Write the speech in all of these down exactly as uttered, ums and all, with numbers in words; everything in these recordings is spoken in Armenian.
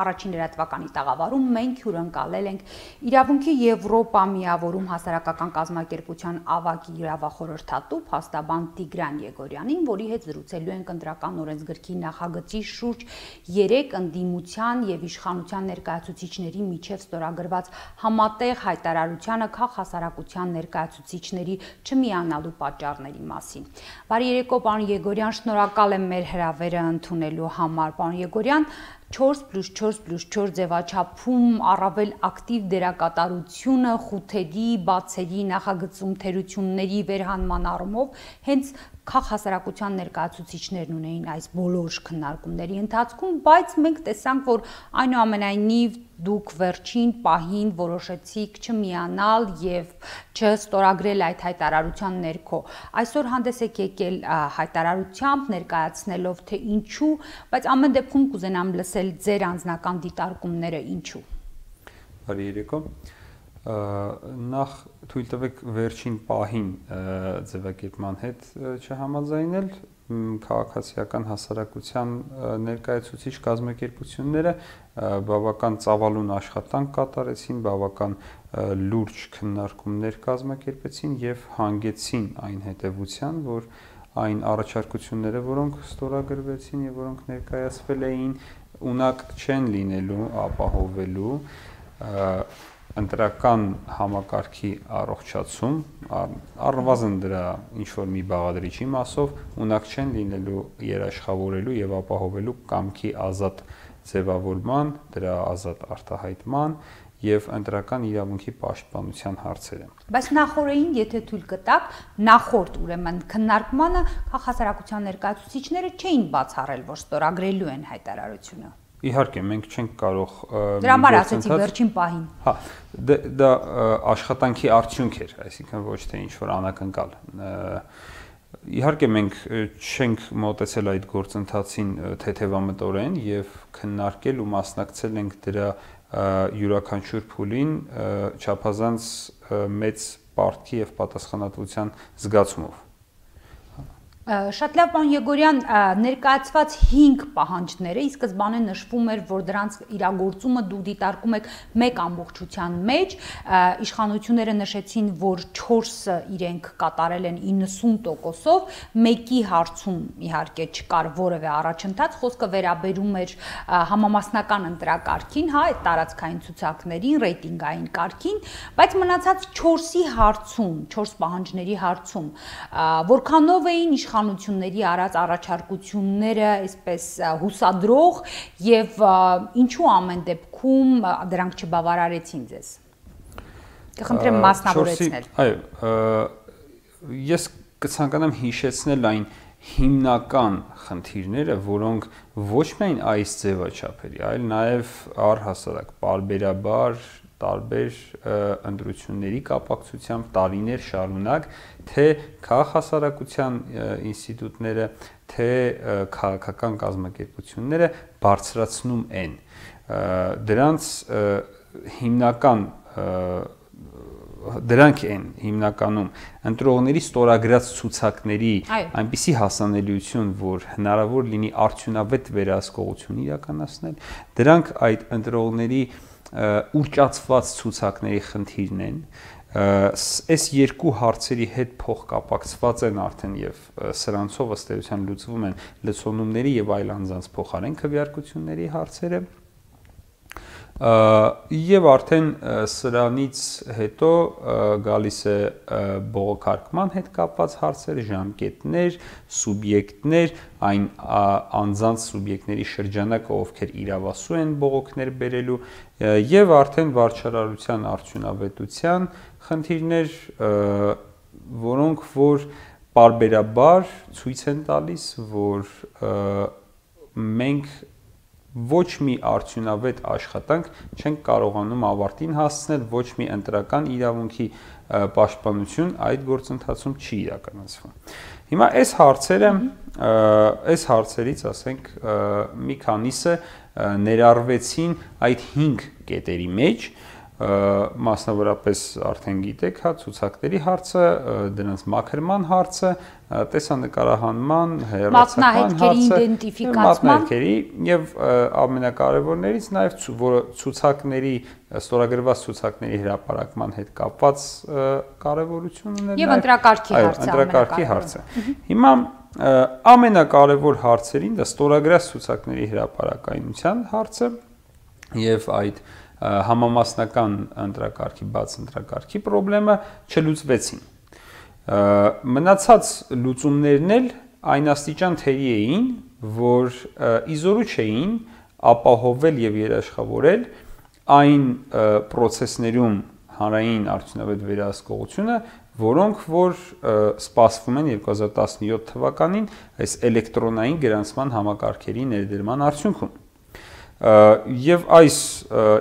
առաջին լրատվականի տաղավարում մենք հյուրընկալել ենք Իրավունքի Եվրոպա միավորում հասարակական կազմակերպության ավագ իրավախորհրդատու փաստաբան Տիգրան Եգորյանին, որի հետ զրուցելու ենք ընտրական օրենսգրքի նախագծի շուրջ երեք ընդդիմության եւ իշխանության ներկայացուցիչների միջև ստորագրված համատեղ հայտարարությանը քաղաքասարակության ներկայացուցիչների չմիանալու պատճառների մասին։ Բարի երեկո, պարոն Եգորյան, շնորհակալ եմ մեր հրավերը ընդունելու համար, պարոն Եգորյան։ չորս պլյուս չորս պլյուս չորս ձևաչափում առավել ակտիվ դերակատարությունը խութերի, բացերի, նախագծում թերությունների վերհանման առումով հենց քաղաքասարակության ներկայացուցիչներն ունեին այս բոլոր քննարկումների ընթացքում, բայց մենք տեսանք, որ այնուամենայնիվ դուք վերջին պահին որոշեցիք չմիանալ եւ չստորագրել այդ հայտարարության ներքո։ Այսօր հանդես եք եկել հայտարարությամբ ներկայացնելով թե ինչու, բայց ամեն դեպքում կուզենամ լսել ձեր անձնական դիտարկումները ինչու։ Բարի երեկո։ Նախ թույլ տվեք վերջին պահին ձևակերպման հետ չհամաձայնել, քաղաքացիական հասարակության ներկայացուցիչ կազմակերպությունները բավական ծավալուն աշխատանք կատարեցին, բավական լուրջ քննարկումներ կազմակերպեցին եւ հանգեցին այն հետեւության, որ այն առաջարկությունները, որոնք ստորագրվեցին եւ որոնք ներկայացվել էին, ունակ չեն լինելու ապահովելու ընտրական համակարգի առողջացում, առնվազն դրա ինչ-որ մի բաղադրիչի մասով ունակ չեն լինելու երաշխավորելու եւ ապահովելու կամքի ազատ ձևավորման, դրա ազատ արտահայտման եւ ընտրական իրավունքի պաշտպանության հարցերը։ Բայց նախորդին, եթե թույլ կտաք, նախորդ ուրեմն քննարկմանը քաղաքասարակության ներկայացուցիչները չէին բացառել, որ ստորագրելու են հայտարարությունը։ Իհարկե, մենք չենք կարող Դրա համար ասեցի վերջին պահին։ Հա, դա աշխատանքի արդյունք էր, այսինքն ոչ թե ինչ-որ անակնկալ։ Իհարկե, մենք չենք մոտեցել այդ գործընթացին թեթևամտորեն եւ քննարկել ու մասնակցել ենք դրա յուրաքանչյուր փուլին չափազանց մեծ պարտքի եւ պատասխանատվության զգացումով։ Շատ լավ, պարոն Եգորյան, ներկայացված հինգ պահանջները ի սկզբանե նշվում էր, որ դրանց իրագործումը դու դիտարկում եք մեկ ամբողջության մեջ, իշխանությունները նշեցին, որ չորսը իրենք կատարել են իննսուն տոկոսով, մեկի հարցում իհարկե չկար որևէ առաջընթաց, խոսքը վերաբերում էր համամասնական ընտրակարգին, հա, այդ տարածքային ցուցակներին, ռեյտինգային կարգին, բայց մնացած չորսի հարցում, չորս պահանջների հարցում, որքանով էին իշխանությունների արած առաջարկությունները այսպես հուսադրող եւ ինչու ամեն դեպքում դրանք չբավարարեցին ձեզ։ Կխնդրեմ մասնավորեցնել։ Այո, ես կցանկանամ հիշեցնել այն հիմնական խնդիրները, որոնք ոչ միայն այս ձևաչափերի, այլ նաեւ առհասարակ պարբերաբար տարբեր ընտրությունների կապակցությամբ տարիներ շարունակ թե քաղաքասարակության ինստիտուտները, թե քաղաքական կազմակերպությունները բարձրացնում են։ Դրանց հիմնական դրանք են հիմնականում ընտրողների ստորագրած ցուցակների այնպիսի հասանելիություն, որ հնարավոր լինի արդյունավետ վերահսկողություն իրականացնել, դրանք այդ ընտրողների ուռճացված ցուցակների խնդիրն են, այս երկու հարցերի հետ փոխկապակցված են արդեն եւ սրանցով ըստ էության լուծվում են լցոնումների եւ այլ անձանց փոխարեն քվեարկությունների հարցերը եւ արդեն սրանից հետո գալիս է բողոքարկման հետ կապված հարցեր, ժամկետներ, սուբյեկտներ, այն անձանց սուբյեկտների շրջանակը, ովքեր իրավասու են բողոքներ բերելու եւ արդեն վարչարարության արդյունավետության խնդիրներ, որոնք որ պարբերաբար ցույց են տալիս, որ մենք ոչ մի արդյունավետ աշխատանք չենք կարողանում ավարտին հասցնել, ոչ մի ընտրական իրավունքի պաշտպանություն այդ գործընթացում չի իրականացվում։ Հիմա այս հարցերը, այս հարցերից, ասենք, մի քանիսը ներառվեցին այդ հինգ կետերի մեջ, մասնավորապես արդեն գիտեք, հա, ցուցակների հարցը, դրանց մաքրման հարցը, տեսանկարահանման, հեռարձակման հարցը, մատնահետքերի եւ ամենակարևորներից նաեւ որը ցուցակների ստորագրված ցուցակների հրապարակման հետ կապված կարևորություն ուներ եւ ընտրակարգի հարցը, ընտրակարգի հարցը։ Հիմա ամենակարևոր հարցերին դա ստորագրած ցուցակների հրապարակայնության հարցը եւ այդ համամասնական ընտրակարգի, բաց ընտրակարգի խնդրը չլուծվեցին։ Մնացած լուծումներն էլ այն աստիճան թերի էին, որ իզորու չէին ապահովել եւ երաշխավորել այն process-ներում հանրային արդյունավետ վերահսկողությունը, որոնք որ սպասվում են երկու հազար տասնյոթ թվականին այս էլեկտրոնային գրանցման համակարգերի ներդրման արդյունքում։ Եվ այս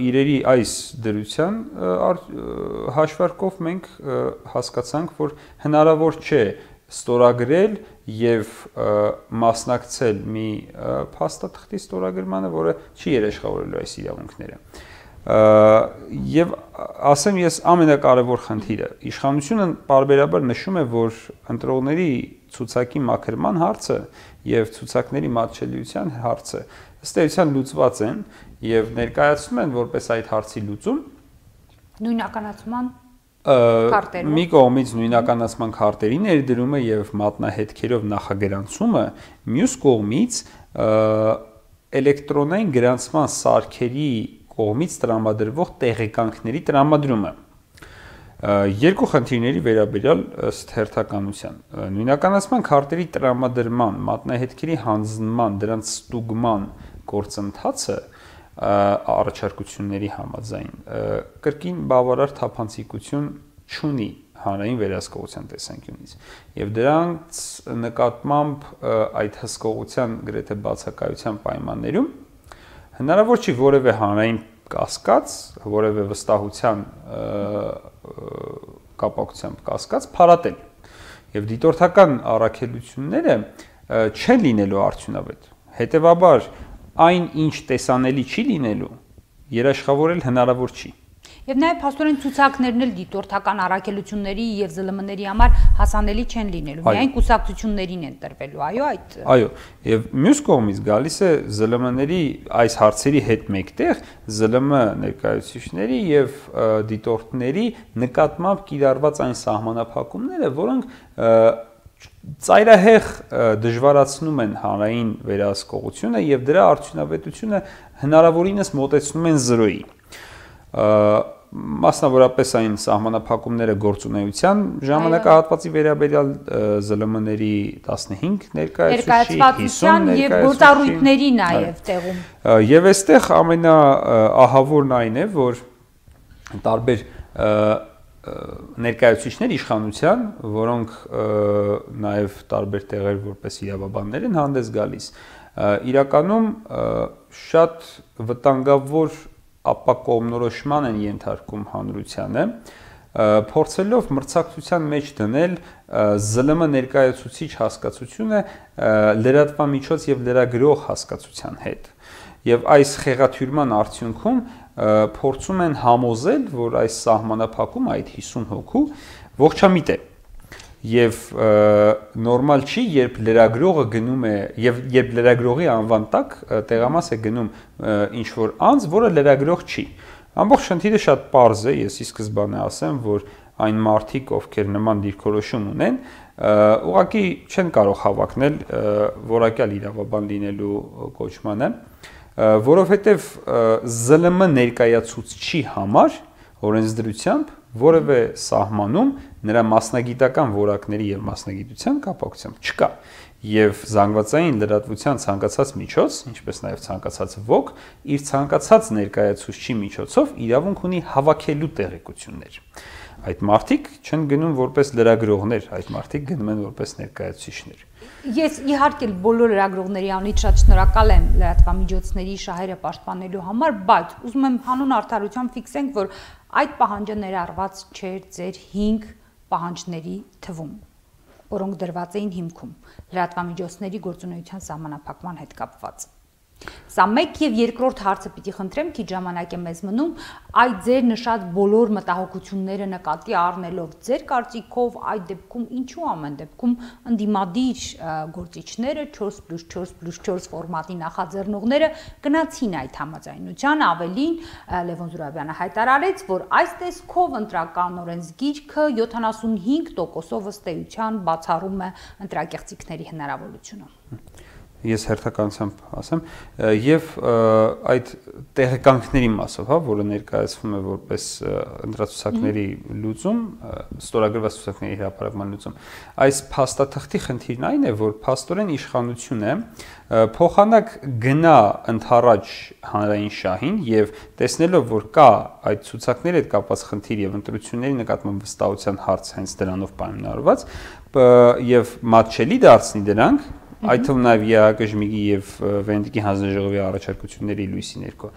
իրերի այս դրության հաշվարկով մենք հասկացանք, որ հնարավոր չէ ստորագրել եւ մասնակցել մի փաստաթղթի ստորագրմանը, որը չի երաշխավորելու այս իրավունքները։ Եվ ասեմ ես ամենակարևոր խնդիրը իշխանությունը բարբերաբար նշում է, որ ընտրողների ցուցակի մաքրման հարցը եւ ցուցակների մատչելիության հարցը ըստ էության լուծված են եւ ներկայացնում են որպես այդ հարցի լուծում նույնականացման քարտերով մի կողմից նույնականացման քարտերի ներդրումը եւ մատնահետքերով նախագրանցումը, մյուս կողմից էլեկտրոնային գրանցման սարքերի կողմից տրամադրվող տեղեկանքների տրամադրումը։ Երկու խնդիրների վերաբերյալ ըստ հերթականության նույնականացման քարտերի տրամադրման, մատնահետքերի հանձնման, դրանց ստուգման գործընթացը առաջարկությունների համաձայն կրկին բավարար թափանցիկություն չունի հանրային վերահսկողության տեսանկյունից եւ դրանց նկատմամբ այդ հսկողության գրեթե բացակայության պայմաններում հնարավոր չի որևէ հանրային կասկած, որևէ վստահության կապակցությամբ կասկած փարատել եւ դիտորդական առաքելությունները չեն լինելու արդյունավետ։ Հետևաբար այն ինչ տեսանելի չի լինելու, երաշխավորել հնարավոր չի։ Եվ նաև փաստորեն ցուցակներն էլ դիտորդական առաքելությունների եւ զլ մ-ների համար հասանելի չեն լինելու, միայն կուսակցություններին են տրվելու, այո, այդ։ Այո, եւ մյուս կողմից գալիս է զլ մ-ների այս հարցերի հետ մեկտեղ զլ մ ներկայացուցիչների եւ դիտորդների նկատմամբ կիրառված այն սահմանափակումները, որոնք ծայրահեղ դժվարացնում են հանրային վերահսկողությունը եւ դրա արդյունավետությունը հնարավորինս մոտեցնում են զրոյի։ Մասնավորապես այն սահմանափակումները գործունեության ժամանակահատվածի վերաբերյալ զլ մ-ների տասնհինգ ներկայացուցիչի, հիսուն եւ գործառույթների նաեւ տեղում։ Եվ այստեղ ամենաահավորն այն է, որ տարբեր ներկայացուցիչներ իշխանության, որոնք նաեւ տարբեր տեղեր որպես իրավաբաններ են հանդես գալիս, իրականում շատ վտանգավոր ապակողմնորոշման են ենթարկում հանրությանը, փորձելով մրցակցության մեջ դնել զլ մ ներկայացուցիչ հասկացությունը լրատվամիջոց եւ լրագրող հասկացության հետ։ Եվ այս խեղաթյուրման արդյունքում փորձում են համոզել, որ այս սահմանափակումը այդ հիսուն հոգու ողջամիտ է։ Եվ նորմալ չի, երբ լրագրողը գնում է եւ երբ լրագրողի անվան տակ տեղամաս է գնում ինչ որ անձ, որը լրագրող չի։ Ամբողջ խնդիրը շատ պարզ է, ես ի սկզբանե ասեմ, որ այն մարդիկ, ովքեր նման դիրքորոշում ունեն, ուղղակի չեն կարող հավակնել որակյալ իրավաբան լինելու կոչմանը, որովհետեւ զլ մ ներկայացուցչի համար օրենսդրությամբ որևէ սահմանում նրա մասնագիտական որակների եւ մասնագիտության կապակցությամբ չկա եւ զանգվածային լրատվության ցանկացած միջոց, ինչպես նաեւ ցանկացած ոք, իր ցանկացած ներկայացուցչի միջոցով իրավունք ունի հավաքելու տեղեկություններ։ Այդ մարդիկ չեն գնում որպես լրագրողներ, այդ մարդիկ գնում են որպես ներկայացուցիչներ։ Ես իհարկե բոլոր լրագրողների անունից շատ շնորհակալ եմ լրատվամիջոցների շահերը պաշտպանելու համար, բայց ուզում եմ հանուն արդարության ֆիքսենք, որ այդ պահանջը ներառված չէր ձեր հինգ պահանջների թվում, որոնք դրված էին հիմքում լրատվամիջոցների գործունեության սահմանափակման հետ կապված։ Սա մեկ եւ երկրորդ հարցը պիտի խնդրեմ, քիչ ժամանակ է մեզ մնում, այդ ձեր նշած բոլոր մտահոգությունները նկատի առնելով, ձեր կարծիքով այդ դեպքում ինչու ամեն դեպքում ընդդիմադիր գործիչները չորս պլյուս չորս պլյուս չորս ֆորմատի նախաձեռնողները գնացին այդ համաձայնության, ավելին Լևոն Զուրաբյանը հայտարարեց, որ այս տեսքով ընտրական օրենսգիրքը յոթանասունհինգ տոկոսով ըստ էության բացառում է ընտրակեղծիքների հնարավորությունը։ Ես հերթականությամբ ասեմ, եւ այդ տեղեկանքների մասով, հա, որը ներկայացվում է որպես ընտրացուցակների լուծում, ստորագրված ցուցակների հրապարակման լուծում, այս փաստաթղթի խնդիրն այն է, որ փաստորեն իշխանությունը փոխանակ գնա ընդառաջ հանրային շահին եւ տեսնելով, որ կա այդ ցուցակների հետ կապված խնդիր եւ ընտրությունների նկատմամբ վստահության հարց հենց դրանով պայմանավորված եւ մատչելի դարձնի դրանք, այդ թվում նաև ԵԱԿ-ի եւ Վենետիկի հանձնաժողովի առաջարկությունների լույսի ներքո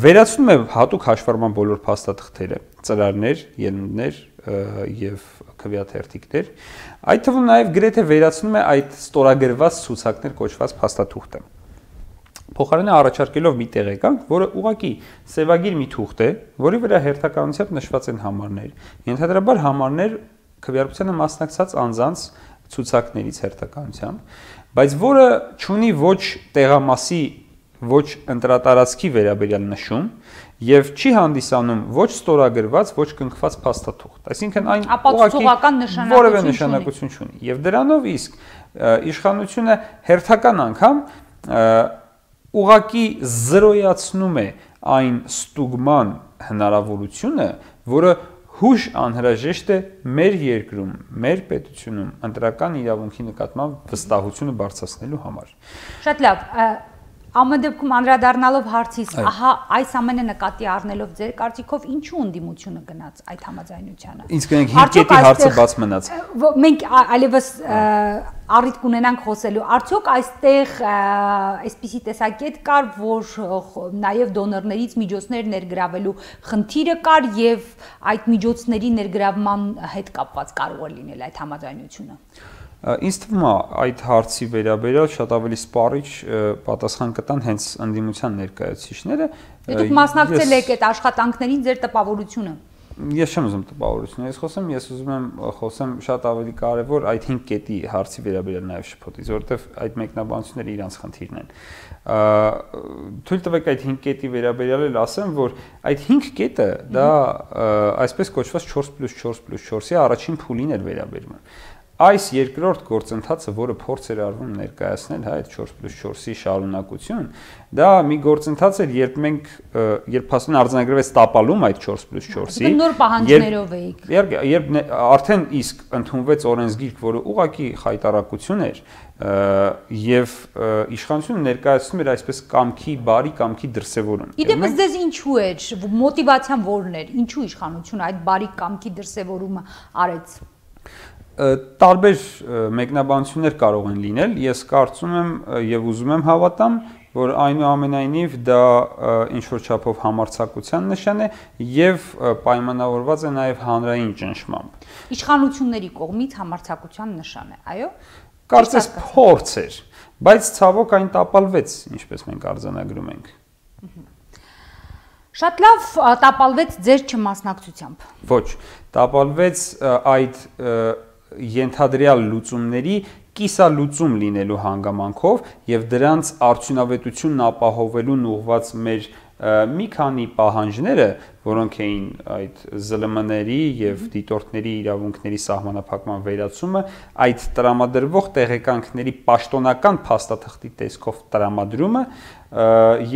վերացնում է հատուկ հաշվառման բոլոր փաստաթղթերը, ծրարներ, ելույթներ եւ քվեաթերթիկներ, այդ թվում նաև գրեթե վերացնում է այդ ստորագրված ցուցակներ կոչված փաստաթուղթը։ Փոխարենը առաջարկելով մի տեղեկանք, որը ուղղակի սևագիր մի թուղթ է, որի վրա հերթականությամբ նշված են համարներ, ենթադրաբար համարներ քվեարկությանը մասնակցած անձանց ցուցակներից հերթականությամբ, բայց որը չունի ոչ տեղամասի, ոչ ընտրատարածքի վերաբերյալ նշում եւ չի հանդիսանում ոչ ստորագրված, ոչ կնքված փաստաթուղթ։ Այսինքն այն ապացուցողական որևէ նշանակություն չունի։ Եվ դրանով իսկ իշխանությունը հերթական անգամ ուղղակի զրոյացնում է այն ստուգման հնարավորությունը, որը հուշ անհրաժեշտ է մեր երկրում, մեր պետությունում ընտրական իրավունքի նկատմամբ վստահությունը բարձրացնելու համար։ Շատ լավ, ամեն դեպքում անդրադառնալով հարցից, ահա այս ամենը նկատի առնելով ձեր կարծիքով ինչու ընդդիմությունը գնաց այդ համաձայնությանը։ Ինչ կնենք հինգ կետի հարցը բաց մնաց։ Մենք այլևս առիթ կունենանք խոսելու, արդյոք այստեղ այսպիսի տեսակետ կար, որ նաև դոնորներից միջոցներ ներգրավելու խնդիրը կար եւ այդ միջոցների ներգրավման հետ կապված կարող է լինել այդ համաձայնությունը։ Ինձ թվում է այդ հարցի վերաբերյալ շատ ավելի սպառիչ պատասխան կտան հենց ընդդիմության ներկայացուցիչները։ Դուք մասնակցել եք այդ աշխատանքներին, ձեր տպավորությունը։ Ես չեմ ուզում տպավորություն ես խոսեմ, ես ուզում եմ խոսեմ շատ ավելի կարևոր այդ հինգ կետի հարցի վերաբերյալ նաև շփոթից, որովհետև այդ մեկնաբանությունները իրանց խնդիրն են։ Թույլ տվեք այդ հինգ կետի վերաբերյալ էլ ասեմ, որ այդ հինգ կետը դա այսպես կոչված չորս պլյուս չորս պլյուս չորսի առաջին փուլին էր վերաբերվում։ Այս երկրորդ գործընթացը, որը փորձ էր արվում ներկայացնել, հա, այդ չորս պլյուս չորսի շարունակություն, դա մի գործընթաց էր, երբ մենք, երբ ասում արձանագրվեց տապալում այդ չորս պլյուս չորսի, նոր պահանջներով էիք։ Երբ արդեն իսկ ընդունվեց օրենսգիրք, որը ուղղակի խայտարակություն էր, եւ իշխանությունը ներկայացնում էր այսպես կամքի, բարի կամքի դրսևորում։ Իդեպ ձեզ ինչու էր, մոտիվացիան որն էր, ինչու իշխանությունը այդ բարի կամքի դրսևորումը արեց։ Տարբեր մեկնաբանություններ կարող են լինել, ես կարծում եմ եւ ուզում եմ հավատամ, որ այնուամենայնիվ դա ինչ-որ չափով համարձակության նշան է եւ պայմանավորված է նաեւ հանրային ճնշմամբ։ Իշխանությունների կողմից համարձակության նշան է, այո։ Կարծես փորձ էր, բայց ցավոք այն տապալվեց, ինչպես մենք արձանագրում ենք։ Շատ լավ, տապալվեց ձեր չմասնակցությամբ։ Ոչ, տապալվեց այդ ենթադրյալ լուծումների կիսալուծում լինելու հանգամանքով եւ դրանց արդյունավետությունն ապահովելուն ուղղված մեր մի քանի պահանջները, որոնք էին այդ զլ էմ էն-ների եւ դիտորդների իրավունքների սահմանափակման վերացումը, այդ տրամադրվող տեղեկանքների պաշտոնական փաստաթղթի տեսքով տրամադրումը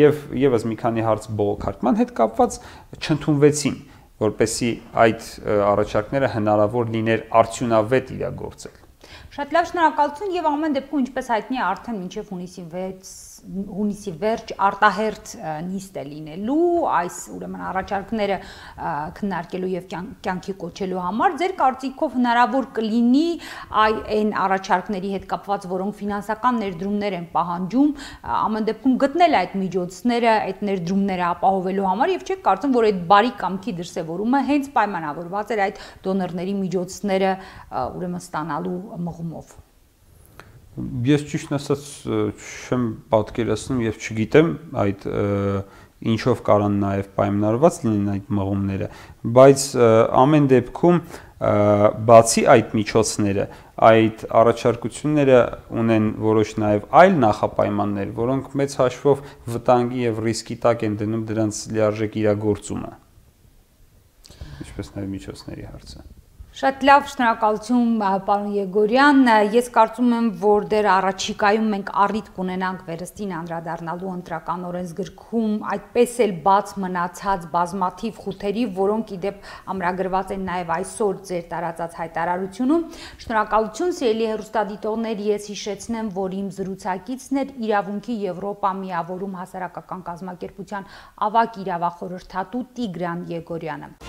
եւ եւս մի քանի հարց բողոքարկման հետ կապված չընդունվեցին, որպեսզի այդ առաջարկները հնարավոր լիներ արդյունավետ իրագործել։ Շատ լավ, շնորհակալություն եւ ամեն դեպքում ինչպես հայտնի է արդեն մինչեւ հունիսի վեց հունիսի վերջ արտահերթ նիստ է լինելու այս ուրեմն առաջարկները քննարկելու եւ կյանքի կոչելու համար ձեր կարծիքով հնարավոր կլինի այն առաջարկների հետ կապված, որոնք ֆինանսական ներդրումներ են պահանջում, ամեն դեպքում գտնել այդ միջոցները, այդ ներդրումները ապահովելու համար եւ չեք կարծում, որ այդ բարի կամքի դրսեւորումը հենց պայմանավորված էր այդ դոնորների միջոցները ուրեմն ստանալու մղումով։ Ես ճիշտ ասած չեմ պատկերացնում եւ չգիտեմ այդ ինչով կարան նաև պայմանավորված լինեն այդ մղումները, բայց ամեն դեպքում բացի այդ միջոցները, այդ առաջարկությունները ունեն որոշ նաև այլ նախապայմաններ, որոնք մեծ հաշվով վտանգի եւ ռիսկի տակ են դնում դրանց լիարժեք իրագործումը, ինչպես նաև միջոցների հարցը։ Շատ լավ, շնորհակալություն պարոն Եգորյան, ես կարծում եմ, որ դեռ առաջիկայում մենք առիթ կունենանք վերստին անդրադառնալու ընտրական օրենսգրքում այդպես էլ բաց մնացած բազմաթիվ խութերի, որոնք իդեպ ամրագրված են նաև այսօր ձեր տարածած հայտարարությունում։ Շնորհակալություն, սիրելի հեռուստադիտողներ, ես հիշեցնեմ, որ իմ զրուցակիցն էր Իրավունքի Եվրոպա միավորում հասարակական կազմակերպության ավագ իրավախորհրդատու Տիգրան Եգորյանը։